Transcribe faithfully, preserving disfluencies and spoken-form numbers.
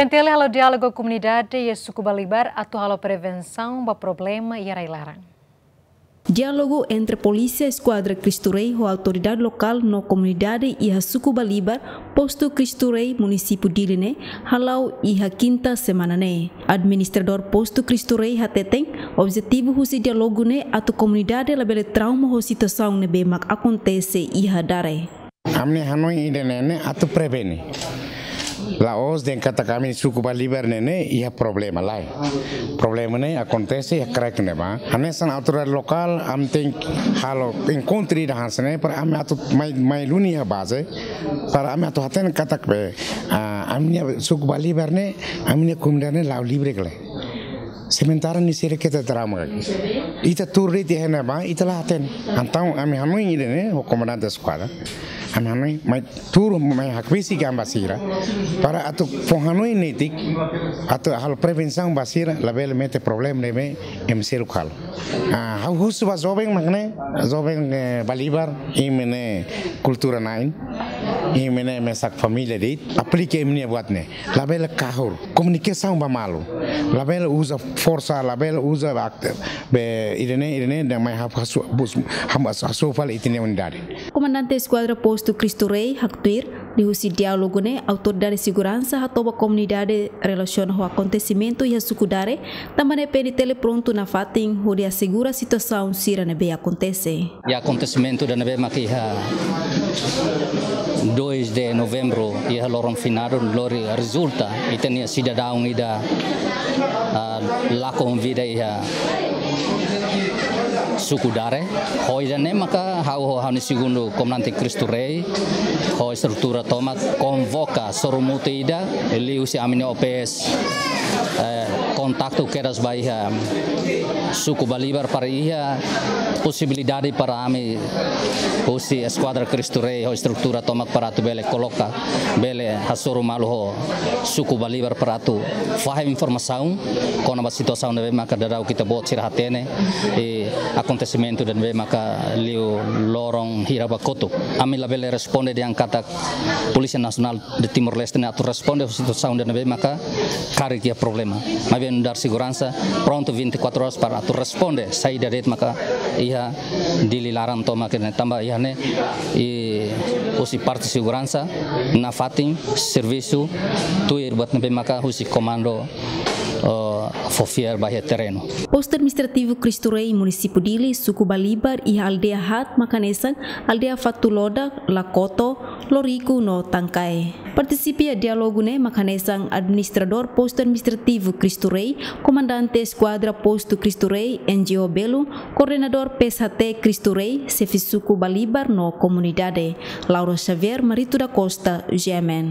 N T L halo diálogu komunidade iha suku Balibar atu halo prevensaun ba problema iha rai-laran. Diálogu entre Polísia Eskuadra Cristo Rei ho autoridade lokál no komunidade iha suku Balibar, Postu Cristo Rei, Munisípiu Dili ne'e, hala'o iha kinta semana ne'e. Administradór Postu Cristo Rei hateten, objetivu husi diálogu ne'e atu komunidade labele trauma ho situasaun ne'ebé mak akontese iha Dare. Ami-nia hanoin ida-ne'e ne'e atu prevene. La'ós dehan katak ami suku Balibar ne'e ne'e iha problema, lae. Problema ne'e akontese iha kraik ne'ebá. Hanesan autoridade lokál, ami tenke halo enkontru ida hanesan ne'e para ami atu mai, mai duni iha baze, para ami atu hatene katak be, ah, ami-nia suku Balibar ne'e, ami-nia komunidade ne'e la'o livre ka lae. Sementara ne'e sira keta trauma. Ita tuur de'it iha ne'ebá, ita la hatene. Entaun ami hanoin ida-ne'e ho komandante eskuadra. Ami hanoin, mai tuur, mai hakbesik ami ba sira. Para atu fó hanoin netik, atu halo prevensaun ba sira, labele mete problema ne'ebé ema seluk halo. Ah, ha'u husu ba joven mak ne'e, joven, eh, Balibar, imi ne'e kultura na'in, imi ne'e mesak família de'it, aplika imi-nia buat ne'e. Labele kahur, komunikasaun ba malu. Labele uza forsa, labele uza ak-, be, ida-ne'e, ida-ne'e, ne'e mai hap hasu, bus, ham hasu, hasu fali ita-nia unidade. Komandante Eskuadra Postu Cristo Rei, haktuir, liuhusi diálogu ne'e, autoridade seguransa hato'o ba komunidade relasiona ho akontesimentu iha suku Dare, tanba ne'e P N T L prontu nafatin hodi asegura situasaun sira ne'ebé akontese. Iha akontesimentu ida ne'ebé mak iha dois de novembro, iha loron finadu, lori rezulta ita-nia sidadaun ida, ah, lakon vida iha suku Dare. Ho ida-ne'e maka ha'u ho ha'u-nia segundu komandante Cristo Rei, ho estrutura tomak konvoka sorumutu ida, liuhusi ami-nia O P S, eh, kontaktu kedas ba iha suku Balibar para iha posibilidade para ami husi Eskuadra Cristo Rei ho estrutura tomak para atu bele koloka, bele hasoru malu ho suku Balibar para atu fahe informasaun kona-ba situasaun ne'ebé maka daudaun ita-boot sira hatene, eh, akontesimentu ida ne'ebé maka liu loron hira ba kotuk. Ami labele responde dehan katak Polísia Nasionál de Timor-Leste ne'e atu responde situasaun ida ne'ebé maka karik iha problema. Maibé nu'udar seguransa prontu vinte e quatro horas para atu responde saida de'it maka iha Dili laran tomak ne'e, tanba iha ne'e, i husi parte seguransa nafatin servisu tuir buat ne'ebé maka husi komandu, eh, fó fiar ba iha terrenu. Postu Administrativu Cristo Rei, Munisípiu Dili, suku Balibar, iha aldeia haat mak hanesan aldeia Fatuloda, Lakoto, Loriku no Tangkae. Partisipa iha diálogu ne'e mak hanesan Administradór Postu Administrativu Cristo Rei, Komandante Eskuadra Postu Cristo Rei, N G O Belu, Koordenadór P S H T Cristo Rei, xefe suku Balibar no komunidade. Laura Xavier, Marito da Costa, G M N.